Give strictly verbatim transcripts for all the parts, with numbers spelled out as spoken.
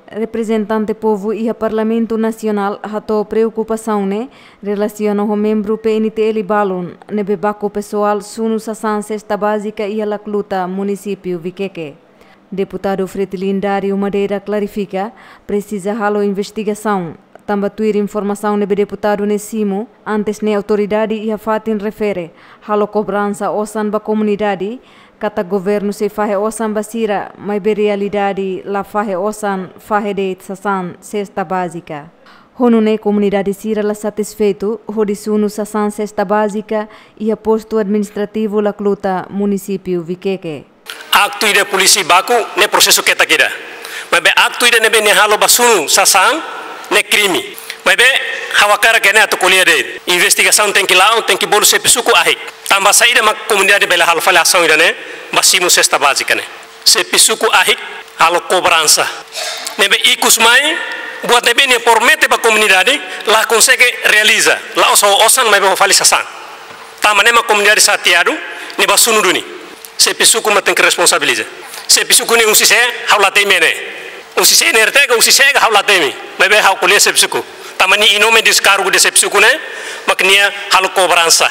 Reprezentante povu iha Parlamentu Nasionál hato'o preokupasaun ne'e relasiona ho membru P N T L balun ne'ebé baku pesoál sunu sasán sesta bázika iha Lacluta, munisípiu Viqueque. Deputadu Fretilin Dario Madeira klarifika, presiza halo investigasaun, tanba tuir informasaun ne'ebé deputadu ne'e simu, antes ne'e autoridade iha fatin refere halo kobransa osan ba komunidade, katak governu sei fahe osan ba sira, maibé realidade la fahe osan, fahe de'it sasán sesta bázika. Ho nune'e komunidade sira la satisfeitu hodi sunu sasán sesta bázika iha postu administrativu Lacluta, munisípiu Viqueque. Aktu ida polísia baku ne'e prosesu ketak ida. Maibé aktu ida ne'ebé nia halo ba sunu sasán ne'e krime. Maibé ha'u hakarak ne'e atu ko'alia de'it. Investigasaun tenke la'o, tenke bolu xefe suku ahik. Tanba saida mak komunidade bele halo fali asaun ida-ne'e ba simu sesta bázika ne'e. Xefe suku ahik halo kobransa. Ne'ebé ikus mai, buat ne'ebé nia promete ba komunidade, la konsege realiza. La'ós ho osan maibé ho fali sasán. Tanba ne'e mak komunidade xateadu, nia ba sunu duni. Xefe suku mak tenke responsabiliza. Xefe suku ne'e un sise, ha'u la temi ne'e. Un sise ne'e R T K, un sise ka ha'u la temi. Maibé ha'u ko'alia xefe suku. Tanba nia inome deskargu de xefe suku ne'e, mak nia halo kobransa.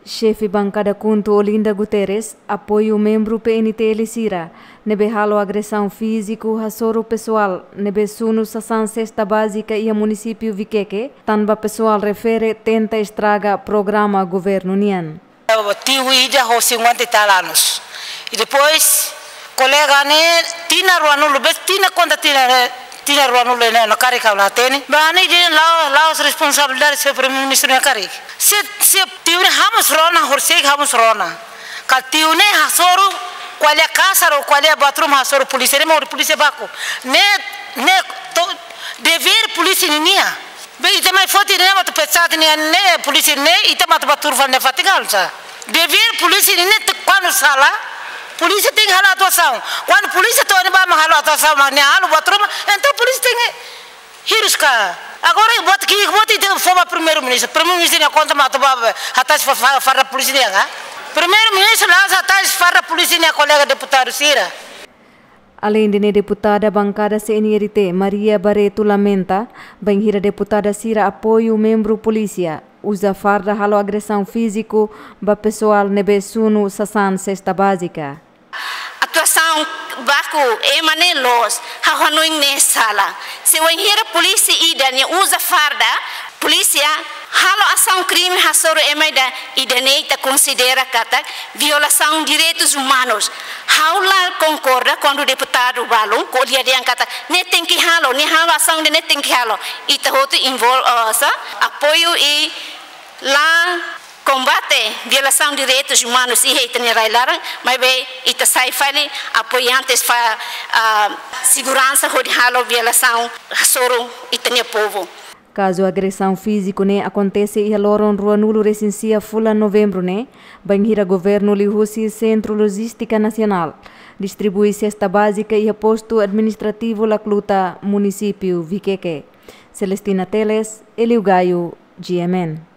Xefe bankada KHUNTO Olinda Guterres apoiu membru P N T L sira ne'ebé halo agresaun fíziku hasoru pesoál ne'ebé sunu sasán sesta bázika iha munisípiu Viqueque, tanba pesoál refere tenta estraga programa governu nian. Tiu ida ho cinquenta e tal anos. E depois, kolega ne'e, tinan ruanulu, bes tinan konta tinan, tinan ruanulu ne'e, no kari kau la teni. Ba ne'e ida la'o, la'o responsabilidade se Primeiru-Ministru ne'e karik. Se, se tiu ne'e hamos rona, horisehik hamos rona. Kala tiu ne'e hasoru, ko'alia kasar ou ko'alia bathroom hasoru polísia, ne'e mak polísia baku. Ne'e, ne'e to, devér polísia ninian. Be ita mai foti ne'e mak atu pecat ne'e, ne'e polísia ne'e, ita mak atu ba tuur fali ne'e fatin ka oinsá. Devér polísia ne'e, ne'e te kuandu sala, polísia tenke halo atuasaun. Kuandu polísia to'o ne'ebá mak halo atuasaun, mak ne'e halo bathroom, entaun polísia tenke hirus ka. Agora buat ki'ik, buat ita fó ba Primeiru-Ministru. Primeiru-Ministru nia konta mak atu ba, hatais fa-, fa-, farda polísia nian ka. Primeiru-Ministru la'ós hatais farda polísia nian, kolega deputadu sira. Aleinde ne'e, deputada bankada C N R T, Maria Barreto, lamenta bainhira deputada sira apoiu membru polísia uza farda halo agresaun fíziku ba pesoál ne'ebé sunu sasán sesta bázika. Atuasaun baku ema ne'e loos, ha'u hanoin ne'e sala. Se wainhira polísia ida nia uza farda polísia halo asaun krime hasoru ema ida, ida-ne'e ita konsidera katak violasaun direitus umanus. Ha'u la konkorda kuandu deputadu balun ko'alia dehan katak ne'e tenke halo, ne'e halo asaun ida-ne'e tenke halo. Ita hotu envol-, eh, sa, apoiu i la kombate violasaun direitus umanus iha ita-nia rai-laran, maibé ita sai fali apoiantes ba, ah, seguransa hodi halo violasaun hasoru ita-nia povu. Kazu agresaun fíziku ne'e akontese iha loron ruanulu-resin-sia fulan Novembru ne'e, bainhira governu liuhusi Sentru Lojístika Nasionál distribui sesta bázika iha postu administrativu Lacluta, munisípiu Viqueque. Celestina Teles, Elio Gaio, G M N.